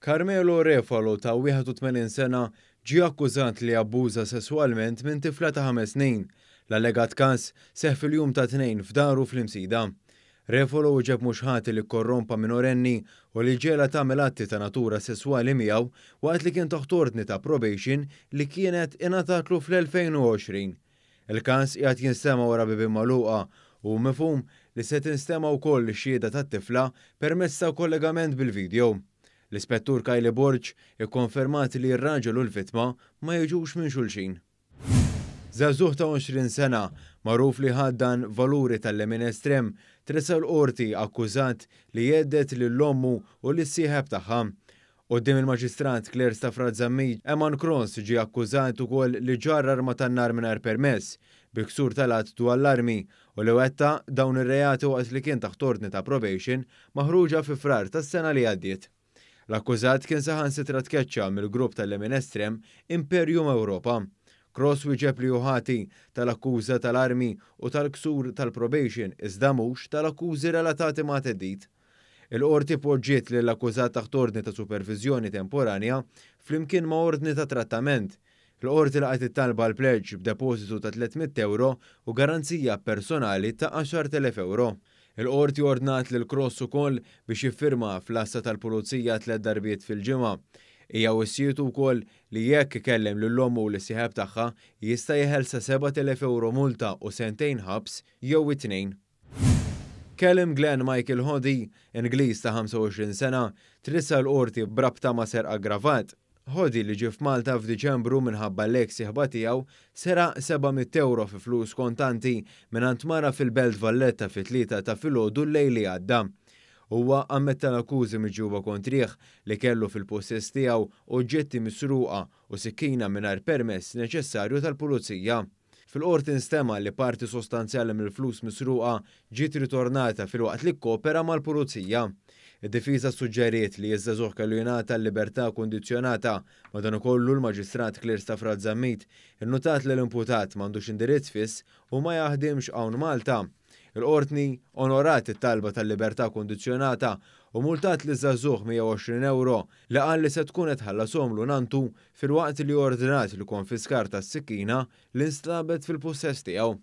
Carmelo Refalo ta' 81 sena ġie akkużat li abbuża sesswalment minn tifla ta' 5 snin. L-allegat każ seħħ fil-jum tat-Tnejn f'daru fl-Imsida. Refalo wieġeb mhux ħati li korrompa minorenni u li ġiegħelha tagħmel atti ta' natura sesswali miegħu waqt li kien taħt ordni ta' probation li kienet ingħatatlu fl-2020. Il-każ qiegħed jinstema' wara bibien magħluqa u mifhum li se tinstema' wkoll xhieda tat-tifla permezz ta' kollegament bil-video. L-Ispettur Kylie Borg ikkonfermat li r-raġel u l-vittma ma jiġux minn xulxin. Żagħżugħ ta' 20 sena, magħruf li ħaddan valuri tal-lemin estrem, tressaq l-qorti akkużat li hedded lil ommu u lis-sieħeb tagħha. Quddiem il-Maġistrat Claire Stafrace Zammit, Eman Cross ġie akkużat ukoll li ġarr arma tan-nar mingħajr permess, bi ksur tal-att dwar l-armi, u li wettaq dawn ir-reati waqt li kien taħt ordni ta' probation maħruġa fi Frar tas-sena li għaddiet. L-akkużat kien saħansitra tkeċċa mill-grupp tal-lemin estrem Imperium Europa. Cross wieġeb li hu ħati tal-akkuża tal-armi u tal-ksur tal-probation, iżda mhux tal-akkużi relatati ma' theddid. Il-qorti poġġiet lill-akkużat taħt ordni ta' supervizjoni temporanja flimkien ma' ordni ta' trattament. Il-qorti laqgħet it-talba l-pleġġ b'depositu ta' 300 euro u garanzija personali ta' 10,000 euro. Il-qorti ordnat lil Cross ukoll biex jiffirma fl-għassa tal-pulizija tliet darbiet fil-ġimgħa. Hija wissietu wkoll li jekk ikellem lil ommu u lis-sieħeb tagħha jista' jeħel sa 7,000 euro multa u sentejn ħabs jew it-tnejn. Callum Glenn Michael Hoddy, Ingliż ta' 25 sena, tressaq l-qorti b'rabta ma' serq aggravat. Hoddy, li ġie f'Malta f'Diċembru minħabba l-ex sieħba tiegħu, seraq 700 euro fi flus kontanti minn mara fil-Belt Valletta fit-3 ta' filgħodu l-lejl li għadda. Huwa ammetta l-akkużi miġjuba kontrih li kellu fil-possess tiegħu oġġetti misruqa u sikkina mingħajr permess neċessarju tal-pulizija. Fil-qorti nstema li parti sostanzjali mill-flus misruqa ġiet ritornata filwaqt li kkopera mal-pulizija. Id-difiża suġġeriet li ż-żagħżugħ kellu jingħata l-libertà kondizzjonata. Madankollu, l-Maġistrat Claire Stafrace Zammit innutat li l-imputat m'għandux indirizz fiss u ma jaħdimx hawn Malta. Il-qorti onorat it-talba tal-libertà kondizzjonata u multat liż-żagħżugħ 120 euro li qal li se tkun qed tħallashomlu nantu, filwaqt li ordnat il-konfiskar tas-sikkina li nstabet fil-pussess tiegħu.